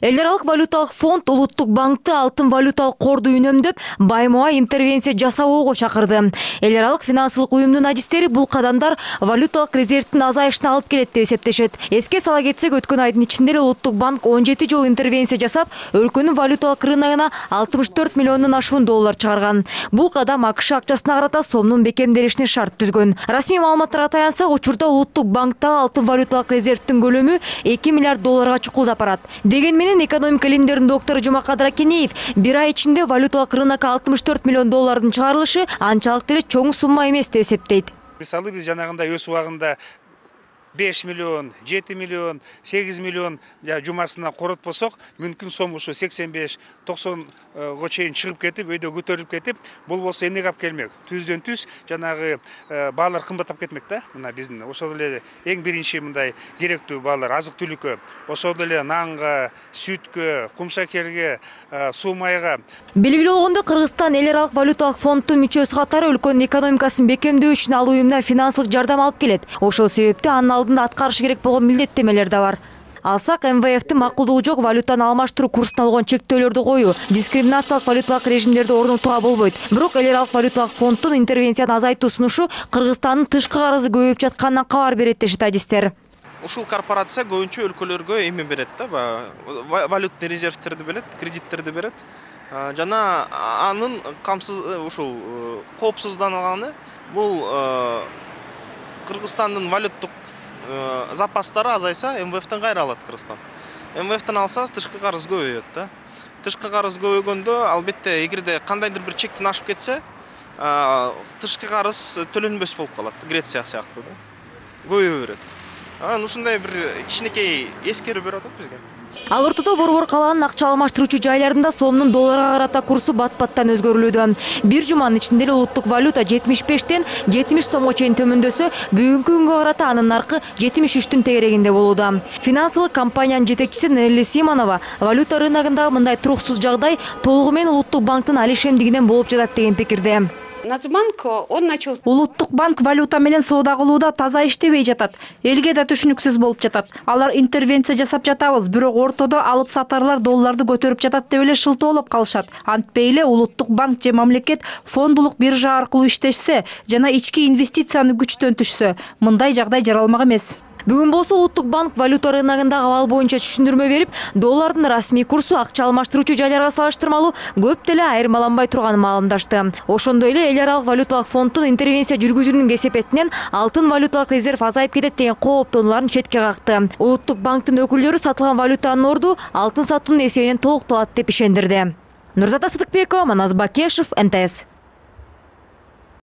Эл аралык валюталык фонд Улуттук банкты алтын валюталык корду үнөмдөп, байма интервенция жасабоого чакырды. Эл аралык финансылык уюмдун адистери бул кадамдар валюталык резервдин азайышына алып келет деп эсептешет. Эске сала кетсек, өткөн айдын ичинде эле Улуттук банк 17 жолу интервенция жасап, өлкөнүн валюталык рыногуна 64 миллиондон ашуун доллар чыгарган. Бул кадам АКШ акчасына карата сомдун бекемделишине шарт түзгөн. Расмий маалыматтарга таянсак, учурда Улуттук банктагы алтын валюталык резервдин көлөмү 2 миллиард долларга чукулдап барат. Дегенмен экономика илимдеринин доктору Жумакадыр Акенеев бир ай ичинде валюталык рынокко 64 миллион доллардын чыгарылышы анчалык деле чоң сумма эмес деп эсептейт. Мисалы биз жанагындай өз убагында 5 миллион, 7 миллион, 8 миллион жумасына коротпосок, мүмкүн сом ушу 85-90 чейин чыгып кетип, өйдө көтөрүлүп кетип, бул болсо эмнеге алып келмек? Түздөн түз жанагы баалар кымбаттап кетмек да. Мына биздин ошол эле эң биринчи мындай керектүү баалар азык-түлүккө, ошол эле нанга, сүткө, кумшакерге, суу майга. Белгилүү болгондой, Кыргызстан эл аралык валюталык фонддун мүчөсү катары өлкөнүн экономикасын бекемдөө үчүн ал уюмдан финансылык жардам алып келет. Ошол себептен анын алдында аткарышы керек болгон милдеттемелер да бар. Алсак, МВФтин макулдугу жок валютаны алмаштыруу курсуна алган чектөөлөрдү коюу, дискриминациялык валюталык режимдерди орнотууга болбойт. Бирок эл аралык валюталык фонддун интервенцияны азайтуу сунушу Кыргызстандын тышкы карызы көбөйүп жатканынан кабар берет дешет адистер. Ушул корпорация көбүнчө өлкөлөргө эме берет да, валютный резервтерди берет, кредиттерди берет. Жана анын ушул коопсузданганы бул Кыргызстандын валюттук запастары азайса, МВФтен кайра алат Кыргызстан. МВФтен алса, тышкы карыз көбөйөт да. Тышкы карыз көбөйгөндө, албетте, эгерде кандайдыр бир чектен ашып кетсе, тышкы карыз төлөнбөс болуп калат, Греция сыяктуу да. Көбөйө берет. Ушундай бир кичинекей эскерүү берип атат бизге. Ал ортодо Борбор калаанын акча алмаштыруучу жайларында сомдун долларга карата курсу бат-баттан өзгөрүлүүдө. Бир жуманын ичинде эле улуттук валюта 75-тен 70 сомго чейин төмөндөсө, бүгүнкү күнгө карата анын наркы 73-түн тегерегинде болууда. Финансылык компаниянын жетекчиси Нелли Симонова валюта рыногундагы мындай туруксуз жагдай толугу менен Улуттук банктын алишемдигинен болуп жатат деген пикирде. Улуттук банк валюта менен соода кылууда таза иштебей жатат. Элге да түшүнүксүз болуп жатат. Алар интервенция жасап жатабыз, бирок ортодо алып сатарлар долларды көтөрүп жатат деп эле шылтоолоп калышат. Антпей эле Улуттук банк же мамлекет фондулук биржа аркылуу иштешсе жана ички инвестицияны күчтөнтүшсө, мындай жагдай жаралмак эмес. Бүгүн болсо Улуттук банк валюта рыногундагы абал боюнча түшүндүрмө берип, доллардын расмий курсу акча алмаштыруучу жайларга салыштырмалуу көп деле айырмаланбай турганын маалымдашты. Ошондой эле эл аралык валюталык фонддун интервенция жүргүзүүнүн кесепетинен алтын валюталык резерв азайып кетет деген кооптонууларын четке какты. Улуттук банктын өкүлдөрү сатылган валютанын орду алтын сатуунун эсебинен толукталат деп ишендирди. Нурзата Сыдыкбекова, Манас Бакешев, НТС.